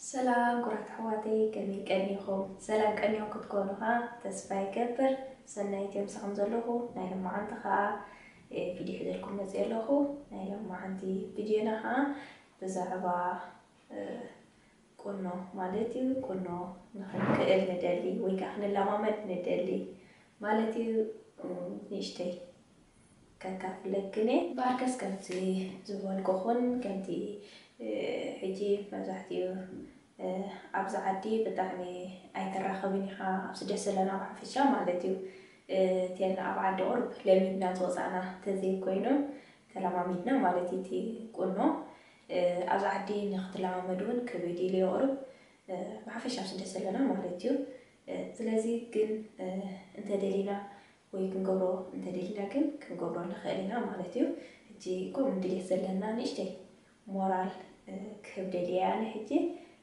ሰላም ኩራት ኣሕዋተይ፣ ከመይ ቀኒኹም? ሰላም ቀኒኹም ክትኮኑ ኸዓ ተስፋ ይገብር። ሰናይት እየ ምሳኹም ዘለኹ። ናይ ሎማዓንቲ ኸዓ፣ እ፣ ቪድዮ ሒዘልኩም መፅየ ኣለኹ። ናይ ሎማዓንቲ ቪድዮና ኸዓ ብዛዕባ፣ እ፣ ቁኖ ማለት እዩ። ቁኖ ንኽንክእል ንደሊ ወይ ከዓ ክንለማመድ ንደሊ ማለት እዩ። እ፣ ንእሽተይ ከካፍለክን እየ። እምበኣርከስ ከምቲ ዝበልኩኹን፣ ከምቲ፣ እ፣ ሕጂ መብዛሕትኡ፣ እ፣ ኣብዚ ዓዲ ብጣዕሚ ኣይተራኸብን ኢኻ፣ ኣብ ስደት ዘለና ብሓፈሻ ማለት እዩ። እ፣ እተን ኣብ ዓዲ ቁሩብ ለሚድና ዝወፃእና ተዘይኮይኑ፣ ተለማሚድና ማለት እዩ እቲ ቁኖ። እ፣ ኣብዚ ዓዲ ንክትለማመድ እውን ከቢድ ኢሉ እዩ ቁሩብ፣ እ፣ ብሓፈሻ ኣብ ስደት ዘለና ማለት እዩ። እ፣ ስለዚ ግን፣ እ፣ እንተደሊና ወይ ክንገብሮ እንተደሊና ግን ክንገብሮ ንኽእል ኢና ማለት እዩ። ሕጂ ከምኡ ድሌት ዘለና ንእሽተይ ሞራል፣ እ፣ ክህብ ደልየ ኣነ ሕጂ።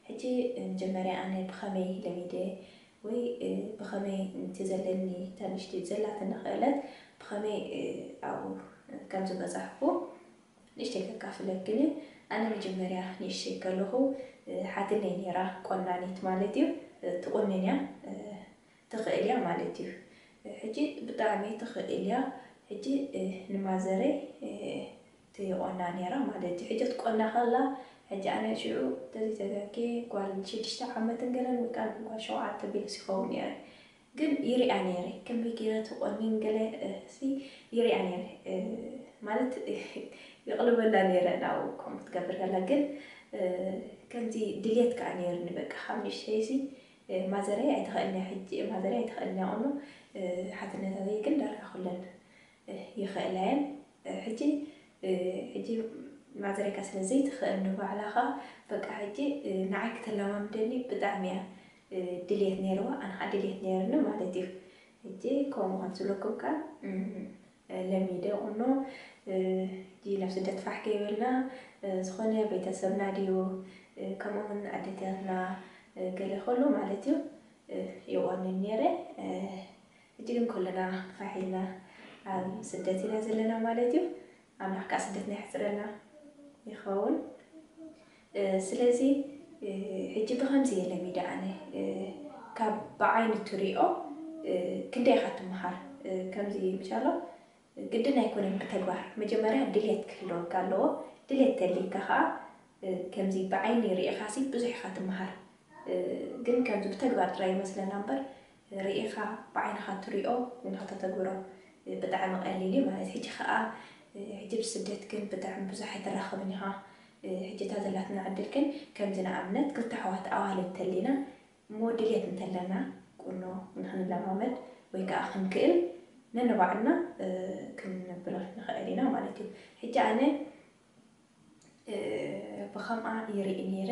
ሕጂ መጀመርያ ኣነ ብኸመይ ለሚደ ወይ፣ እ፣ ብኸመይ እቲ ዘለኒ እታ ንእሽተይ ዘላትኒ ክእለት ብኸመይ፣ እ፣ ኣብኡ ከም ዝበጻሕኩ ንእሽተይ ከካፍለክን እየ። ኣነ መጀመርያ ንእሽተይ ከለኹ፣ እ፣ ሓትነይ ነይራ ቆናኒት ማለት እዩ። እ፣ ትቑንን እያ፣ እ፣ ትኽእል እያ ማለት እዩ። እ፣ ሕጂ ብጣዕሚ ትኽእል እያ። ሕጂ፣ እ፣ ንማዘረይ፣ እ፣ ትቆና ነይራ ማለት እዩ። ሕጂ ትቆና ከላ፣ ሕጂ ኣነ ሽዑ ተዘይተጋግየ ጓል ሽዱሽተ ዓመትን ገለን ወይ ከዓ ጓል ሸውዓተ ቢለስ ይኸውን ነይረ። ግን ይሪኣ ነይረ፣ ከመይ ገይረ ትቆንን ገለ፣ እ፣ ሲ ይሪኣ ነይረ፣ እ፣ ማለት ይቕልበላ ነይረ ናብኡ ከምኡ ክትገብር ከላ። ግን፣ እ፣ ከምዚ ድሌት ከኣ ነይርኒ፣ በቃ ካብ ንእሽተይሲ፣ እ፣ ማዘረይ ኣይትኽእልንያ ሕጂ፣ ማዘረይ ኣይትኽእልንያ ቁኖ፣ እ፣ ሓትነታተይ ግን ዳርጋ ኩለን፣ እ፣ ይኽእላ እየን። እ፣ ሕጂ፣ እ፣ ሕጂ ማዘረይካ ስለ ዘይትኽእል ንባዕላኻ፣ በቃ ሕጂ፣ እ፣ ንዓይ ክተለማምደኒ ብጣዕሚ እያ፣ እ፣ ድልየት ነይርዋ፣ ኣነ ኸዓ ድልየት ነይርኒ ማለት እዩ። ሕጂ ከምኡ ከም ዝብለኩም ከኣ፣ እም፣ እ፣ ለሚደ ቁኖ፣ እ፣ ሕጂ ናብ ስደት ፋሕ ከይበልና፣ እ፣ ዝኾነ ቤተሰብና ድዩ፣ እ፣ ከምኡ እውን ኣዴታትና፣ እ፣ ገለ ከሎ ማለት እዩ፣ እ፣ ይቆንን ነይረ። እ፣ ሕጂ ግን ኩልና ፋሕ ኢልና ኣብ ስደት ኢና ዘለና ማለት እዩ። ኣምላኽ ከኣ ስደትና የሕጽረልና ይኸውን። እ፣ ስለዚ፣ እ፣ ሕጂ ብኸምዚ እየ ለሚደ ኣነ። እ፣ ካብ ብዓይኒ ትሪኦ፣ እ፣ ክንደይ ኢኻ ትመሃር? እ፣ ከምዚ ምሻሎ ግድን ኣይኮነን ብተግባር። መጀመርያ ድሌት ክህልወካ ኣለዎ። ድሌት ተልይካ ኸኣ፣ እ፣ ከምዚ ብዓይኒ ርኢኻሲ ብዙሕ ኢኻ ትመሃር። እ፣ ግን ከምዚ ብተግባር ጥራይ ይመስለና እምበር፣ ርኢኻ ብዓይንኻ ትሪኦ ንኽተተግብሮ፣ እ፣ ብጣዕሚ ቀሊል እዩ ማለት። ሕጂ ኸኣ፣ እ፣ ሕጂ ብስደት ግን ብጣዕሚ ብዙሕ ኣይትራኸብን ኢኻ። እ፣ ሕጂ እታ ዘላትና ዕድል ግን ከምዚ ንኣብነት ክልተ ኣሕዋት ኣዋልድ እንተሊና እሞ ድልየት እንተለና ቁኖ ንኽንለማመድ ወይ ከኣ ክንክእል ነንባዕልና፣ እ፣ ክንብሎ ንኽእል ኢና ማለት እዩ። ሕጂ ኣነ፣ እ፣ ብኸምኣ ይርኢ ነይረ።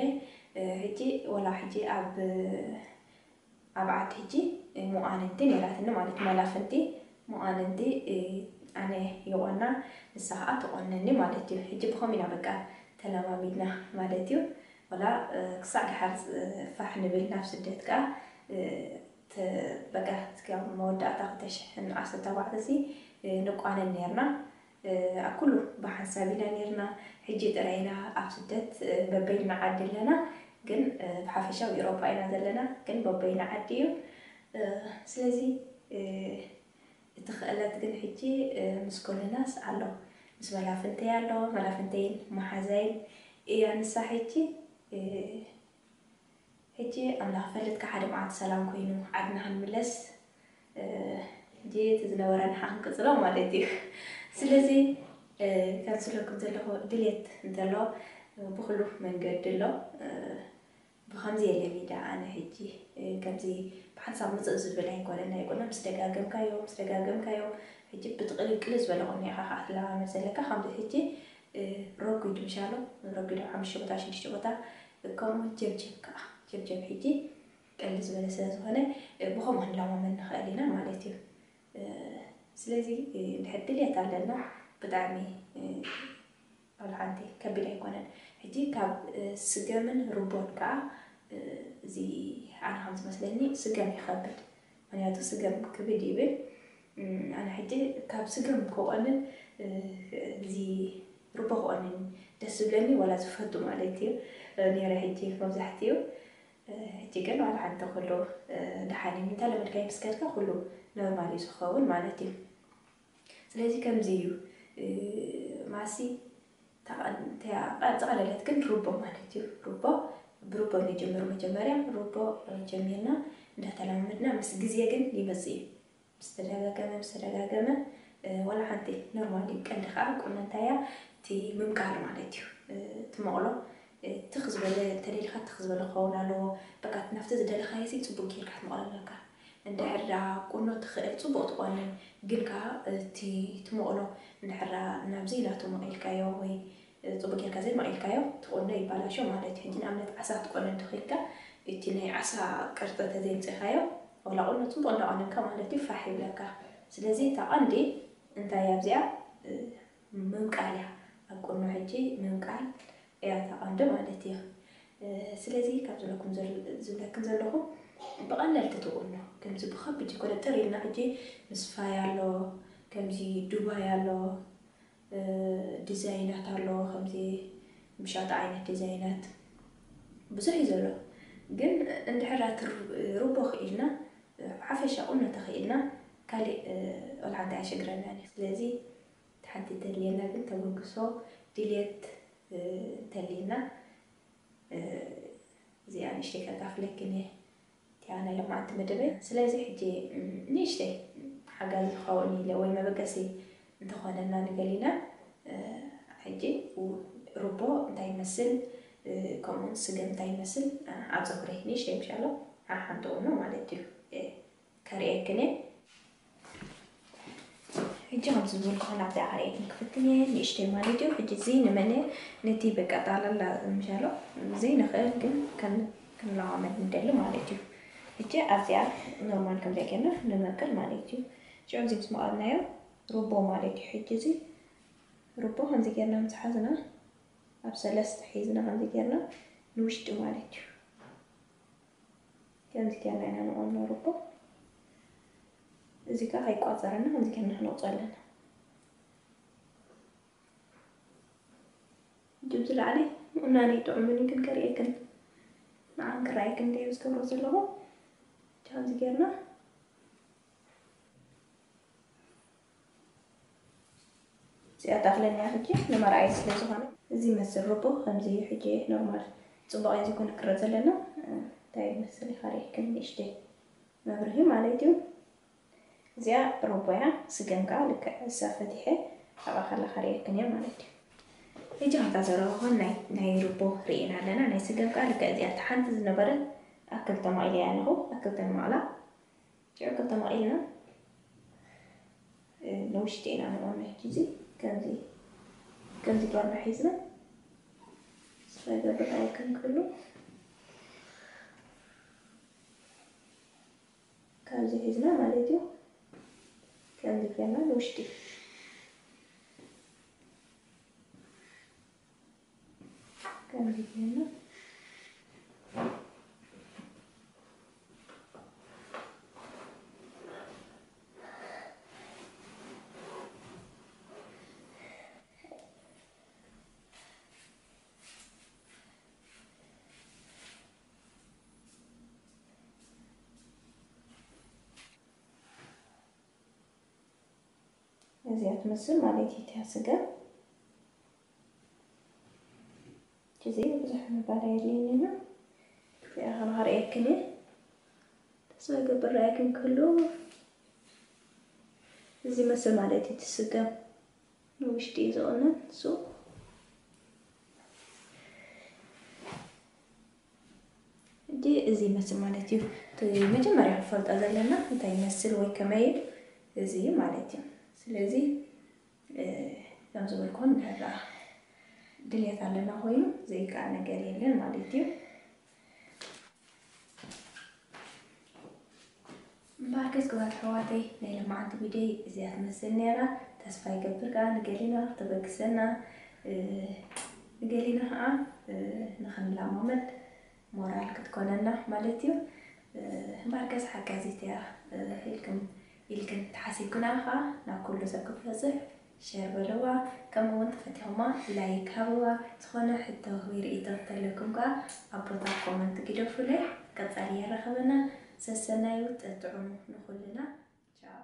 እ፣ ሕጂ ወላ ሕጂ ኣብ፣ ኣብ ዓዲ ሕጂ ምቋንንቲ ነይራትኒ ማለት መላፍንቲ ምቋንንቲ፣ እ፣ ኣነ ይቆና ንሳ ኸዓ ትቆነኒ ማለት እዩ። ሕጂ ብኸምኡ ኢና በቃ ተለማሚድና ማለት እዩ። ወላ፣ እ፣ ክሳዕ ደሓር፣ እ፣ ፋሕ ንብል ናብ ስደት ከኣ፣ እ፣ ተ-፣ በቃ እስከ ኣብ መወዳእታ ክልተ ሽሕን ዓሰርተ ኣርባዕተ ሲ፣ እ፣ ንቋነን ነይርና። እ፣ ኣብ ኩሉ ብሓንሳብ ኢና ነይርና። ሕጂ ጥራይ ኢና ኣብ ስደት፣ እ፣ በበይና ዓዲ ኣለና። ግን፣ እ፣ ብሓፈሻ ኣብ ኤውሮጳ ኢና ዘለና። ግን በበይና ዓዲ እዩ። እ፣ ስለዚ፣ እ፣ እቲ ክእለት ግን ሕጂ፣ እ፣ ምስ ኮለናስ ኣሎ። ምስ መላፍንተይ ኣሎ። መላፍንተይን መሓዛይን እያ ንሳ ሕጂ። እ፣ ሕጂ ኣምላኽ ፈልጥካ ሓደ መዓልቲ ሰላም ኮይኑ ዓድና ክንምለስ፣ እ፣ ሕጂ እቲ ዝነበረ ንሓ ክንቅጽሎ ማለት እዩ። ስለዚ፣ እ፣ ከም ዝብለኩም ዘለኹ ድሌት እንተሎ፣ እ፣ ብኹሉ መንገዲ ኣሎ። እ፣ ብኸምዚ እየ ለሚዳ ኣነ ሕጂ፣ እ፣ ከምዚ ብሓንሳብ ምጽእ ዝብል ኣይኮነን። ናይ ቁኖ ምስ ደጋገምካዮ፣ ምስ ደጋገምካዮ፣ ሕጂ ብትቕልቅል ዝበለ ቁኖ ኢኻ ከኣ ትለማመድ ዘለካ። ከምዚ ሕጂ፣ እ፣ ረጒድ ምሻሎ፣ ረጒድ ኣብ ሓሙሽተ ቦታ፣ ሽዱሽተ ቦታ፣ ከምኡ ጀብጀብ ከኣ፣ ጀብጀብ ሕጂ ቀልል ዝበለ ስለ ዝኾነ፣ እ፣ ብኸምኡ ክንለማመድ ንኽእል ኢና ማለት እዩ። እ፣ ስለዚ፣ እ፣ እንድሕር ድልየት ኣለና፣ ብጣዕሚ፣ እ፣ ቆልዓ እንተ ከቢድ ኣይኮነን። ሕጂ ካብ፣ እ፣ ስገምን ርቦን ከኣ፣ እ፣ እዚ ኣነ ከም ዝመስለኒ ስገም ይኸብድ። ምኽንያቱ ስገም ክብድ ይብል። እም፣ ኣነ ሕጂ ካብ ስገም ክቆንን፣ እ፣ እዚ ርቦ ክቆንን ደስ ዝብለኒ ዋላ ዝፈቱ ማለት እዩ ነይረ። ሕጂ መብዛሕትኡ ሕጂ ግን ዋላ ሓንቲ ኩሉ ደሓን እዩ። እንተለመድካዮ ምስ ከድካ ኩሉ ኖርማል እዩ ዝኸውን ማለት እዩ። ስለዚ ከምዚ እዩ ማሲ ጠቐለለት ግን ሩቦ ማለት እዩ። ሩቦ ብሩቦ ንጀምር። መጀመርያ ሩቦ ጀሚርና እንዳተለማመድና ምስ ግዜ ግን ይመጽእ እዩ። ምስ ተደጋገመ ምስ ተደጋገመ ዋላ ሓንቲ ኖርማል እዩ። ቀንዲ ከዓ ቁኖ እንታይ እያ እቲ ምምቃል ማለት እዩ። እቲ መቕሎ ትኽ ዝበለ እንተደሊካ ትኽ ዝበለ ክኸውን ኣለዎ። በቃ ናብቲ ዝደለካዮ ሲ ፅቡቅ ጌርካ ክትመቕሎ ኣለካ። እንድሕር ዳ ቁኖ ትኽእል ፅቡቅ ትቆንን፣ ግን ከዓ እቲ ትመቕሎ እንድሕር ዳ ናብዚ ናቱ መቒልካዮ ወይ ፅቡቅ ጌርካ ዘይመቒልካዮ ትቆኖ ይባላሾ ማለት እዩ። ሕጂ ንኣብነት ዓሳ ክትቆንን ተኽኢልካ እቲ ናይ ዓሳ ቅርፂ ተዘይምፅእካዮ ዋላ ቁኖ ፅቡቅ እንዳቆነንካ ማለት እዩ ፋሕ ይብለካ። ስለዚ እታ ቀንዲ እንታይ ኣብዚኣ ምምቃል እያ። ኣብ ቁኖ ሕጂ ምምቃል እያ እታ ቀንዲ ማለት እዩ። ስለዚ ካብ ዝብለኩም ዘል- ዝብለክን ዘለኹ ብቐለልቲ ትቁኖ ከምዚ ብኸቢድ ይኮነ ጥር ኢልና ሕጂ ምስ ፋይ ኣሎ ከምዚ ዱባይ ኣሎ ዲዛይናት ኣሎ ከምዚ ምሻጣ ዓይነት ዲዛይናት ብዙሕ እዩ ዘሎ። ግን እንድሕር ኣቲ ሩቦ ክኢልና ሓፈሻ ቁኖ ተኽኢልና ካሊእ ቆልዓ እንታይ ኣሸግረና። ስለዚ ሓንቲ ተድልየና ግን ተበግሶ ድልየት እንተልየና እዚኣ ንእሽተይ ከካፍለክን እየ። እቲኣ ናይ ለማዓንቲ መደበይ። ስለዚ ሕጂ ንእሽተይ ሓጋዚ ክኸውን ኢለ ወይ መበገሲ እንተኾነና ንገሊና ሕጂ ሩቦ እንታይ ይመስል ከምኡውን ስገም እንታይ ይመስል ኣብ ፀጉረይ ንእሽተይ ምሻሎ ሓሓንጥውኖ ማለት እዩ። ከርእየክን እየ። ሕጂ ከም ዝበልኩ ናብዚኣ ከርእየክን ክፍትን እየ ንእሽተይ ማለት እዩ። ሕጂ እዚ ንመን ነቲ በቃ ጣላላ ምሻሎ ዘይንኽእል ግን ከም ክንለማመድ ንደሊ ማለት እዩ። ሕጂ ኣብዚኣ ኖርማል ከምዚኣ ጌርና ንመቅል ማለት እዩ። ሽዑ እዚ ምስ መቐልናዮ ሩቦ ማለት እዩ። ሕጂ እዚ ሩቦ ከምዚ ጌርና ምስ ሓዝና ኣብ ሰለስተ ሒዝና ከምዚ ጌርና ንውሽጢ ማለት እዩ። ከምዚ ጌርና ኢና ንቆኖ ርቦ። እዚ ከዓ ከይቋፀረና ከምዚ ጌርና ክንወፅኦ ኣለና። ድብዚ ላዕሊ ምቁናን ይጥዑምኒ ግን ከርእየክን ንዓን ክረኣየክን ደየ ዝገብሮ ዘለኹ። ከምዚ ጌርና እዚኣ ተኽለኛ ሕጂ ንመርኣይ ስለ ዝኾነ እዚ መስል ርቦ ከምዚ እዩ። ሕጂ ኖርማል ፅቡቕ እዩ ዝኾነ ክረ ዘለና እንታይ ይመስል ይኻሪክን ንእሽተይ መብርሂ ማለት እዩ። እዚኣ ርቦ እያ። ስገም ከዓ ልክዕ እሳ ፈቲሐ ኣብኣ ከላ ካሪክን እያ ማለት እዩ። ሕጂ ከምታ ዘረባኹን ናይ ርቦ ርኢና ኣለና። ናይ ስገም ከዓ ልክዕ እዚኣ ሓንቲ ዝነበረት ኣክል ተማኢለ እያ ኣለኹ ኣክል ተማቕላ ጨርቂ ተማቒልና ንውሽጢ ኢና ንቆመ ሕጂ እዚ ከምዚ ከምዚ ጌርና ሒዝና ስፈ ገብር ኣይክንክሉ ከምዚ ሒዝና ማለት እዩ። ከምዚ ጌርና ንውሽጢ ከምዚ ጌርና እዚኣ ትመስል ማለት እዩ እቲያ ስገም። እዚ ብዙሕ ምባል ኣየድልየኒ ኣሎ። እዚኣ ከማኻ ርእየክን እየ። ተስፋ ይገብር ርኣየክን ክህሉ። እዚ መስል ማለት እዩ እቲ ስገም ንውሽጢ እዩ ዝቕነን እሱ። ሕጂ እዚ ይመስል ማለት እዩ። እቲ መጀመርያ ክፈልጦ ዘለና እንታይ ይመስል ወይ ከመይ እዩ እዚ ማለት እዩ። ስለዚ ከም ዝበልኩም ድሕር ደኣ ድልየት ኣለና ኮይኑ ዘይከኣል ነገር የለን ማለት እዩ። እምበኣርከስ ክቡራት ኣሕዋተይ ናይ ሎማዓንቲ ቪድዮይ እዚኣ ትመስል ነይራ። ተስፋ ይገብር ከኣ ንገሊና ክተበግሰና ንገሊና ከኣ ንኽንለማመድ ሞራል ክትኮነና ማለት እዩ። እምበኣርከስ ሓጋዚት እያ ኢልክን ኢልክን ተሓሲብክና ከኣ ናብ ኩሉ ሰብ ክትበፅሕ ሸር በልዋ። ከምኡ እውን ተፈቲኹማ ላይክ ሃብዋ። ዝኾነ ሕቶ ወይ ርእይቶ እንተለኩም ከዓ ኣብ ቦታ ኮመንት ግደፉለይ። ቀጻሊ የራኸበና። ሰሰናዩ ጥዑም ንኹልና። ቻው።